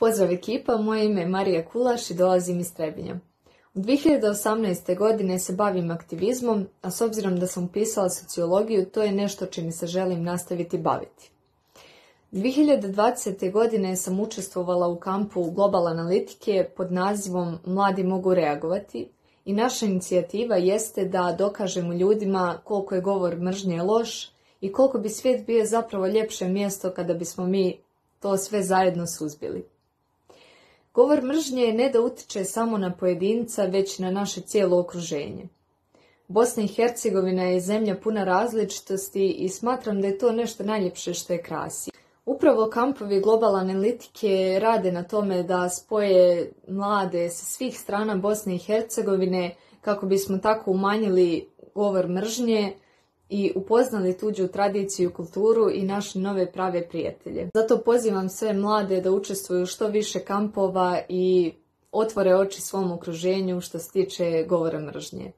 Pozdrav ekipa, moje ime je Marija Kulaš i dolazim iz Trebinja. U 2018. godine se bavim aktivizmom, a s obzirom da sam upisala sociologiju, to je nešto čime se želim nastaviti baviti. 2020. godine sam učestvovala u kampu Global analitike pod nazivom Mladi mogu reagovati i naša inicijativa jeste da dokažemo ljudima koliko je govor mržnje loš i koliko bi svijet bio zapravo ljepše mjesto kada bismo mi to sve zajedno suzbili. Govor mržnje ne da utiče samo na pojedinca, već na naše cijelo okruženje. Bosna i Hercegovina je zemlja puna različitosti i smatram da je to nešto najljepše što je krasi. Upravo kampovi Global analitike rade na tome da spoje mlade sa svih strana Bosne i Hercegovine kako bismo tako umanjili govor mržnje i upoznali tuđu tradiciju, kulturu i našli nove prave prijatelje. Zato pozivam sve mlade da učestvuju što više kampova i otvore oči svom okruženju što se tiče govora mržnje.